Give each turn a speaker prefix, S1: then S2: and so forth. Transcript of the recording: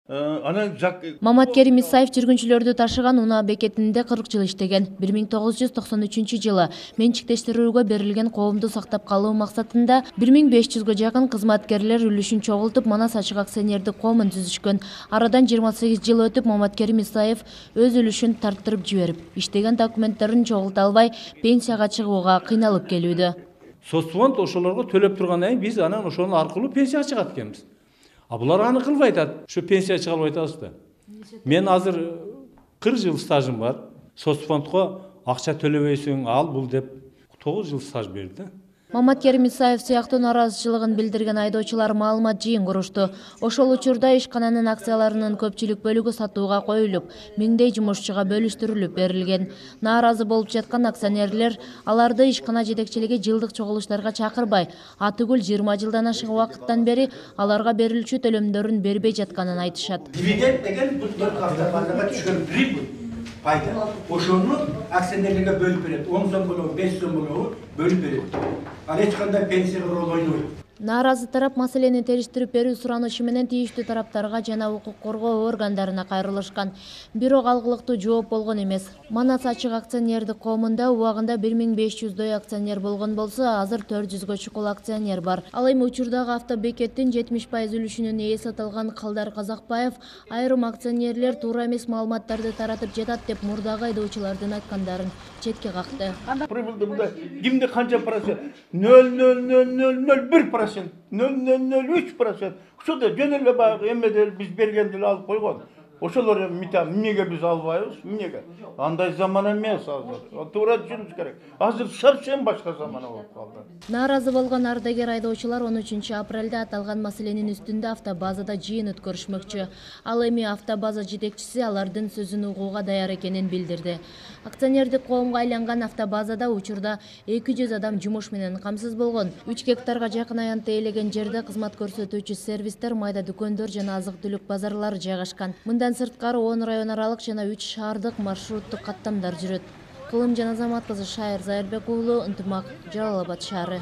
S1: Маматкерим Исаев жүргүнчүлөрдү ташыган унаа бекетинде 40 жыл иштеген. 1993 менчиктештирүүгө берилген коомду сактап калуу максатында 1500гө жакын кызматкерлер үлүшүн чогултуп Манас ачык акционердик коомун түзүшкөн. Арадан 28 жыл өтүп, Маматкерим Исаев өз үлүшүн тарттырып жиберип, иштеген документтерин чогулта албай, пенсияга чыгууга кыйналып келүүдө.
S2: Соцфонд ошолорго төлөп тургандан кийин биз анан ошонун аркылуу пенсия чыгат экенбиз. А булар аны кылбай атат. Ушу пенсия чыга албай атабыз да. Мен азыр 40 жыл стажым бар. Соцфондко акча төлөбөйсүң, ал бул деп 9 жыл стаж берди.
S1: Маматкерим Исаев сыяктуу нааразычылыгын билдирген айдоочулар маалымат жыйын курушту. Ошол учурда ишкананын акцияларынын көпчүлүк бөлүгү сатууга коюлуп, миңдей жумушчуга бөлүштүрүлүп берилген. Нааразы болуп жаткан акционерлер аларды ишкана жетекчилиги жылдык чогулуштарга чакырбай, атүгүл 20 жылдан ашык убакыттан бери аларга берилчү төлөмдөрүн бербей жатканын айтышат.
S3: Дивиденд деген бул автопаркага түшкөн прибыль. Пайда. Ошону акционерлерге бөлүп берет. 10 сом болобу, 5 сом болобу бөлүп берет. Ал эч кандай пенсияга роль ойнойт.
S1: Нааразы тарап маселени териштирип берүү суранычы менен тийиштүү тараптарга жана укук коргоо органдарына кайрылышкан. Бирок алгылыктуу жооп болгон эмес. Манас ачык акционердик коомунда убагында 1500дөй акционер болгон болсо, азыр 400гө чукул акционер бар. Ал эми учурдагы автобекеттин 70% үлүшүнүн ээси аталган Калдар Казакбаев айрым акционерлер туура эмес маалыматтарды таратып жатат деп мурдагы айдоочулардын айткандарын четке какты.
S4: Прибылда кимде канча процент? 0,0001%. 0,003%. Ошо да жөн эле баягы эмеде биз бергенди алып койгон. Ошолор эмнеге биз албайбыз? Эмнеге? Андай заман эмес азыр. Туура түшүнүш керек. Азыр совсем башка заман болуп калды.
S1: Нааразы болгон ардагер айдоочулар 13 апрелде аталган маселенин үстүндө автобазада жыйын өткөрүшмөкчү. Ал эми автобаза жетекчиси алардын сөзүн угууга даяр экенин билдирди. Акционердик коомго айланган автобазада учурда 200 адам жумуш менен камсыз болгон. 3 гектарга жакын аянтты ээлеген жерде кызмат көрсөтүүчү сервистер, майда дүкөндөр жана азык-түлүк базарлары жайгашкан. Мындан сырткары 10 район аралык жана 3 шаардык маршруттук каттамдар жүрөт. Кылым Жаназамат кызы, Шайыр Зайырбек уулу, Ынтымак, Жалал Абад шаары.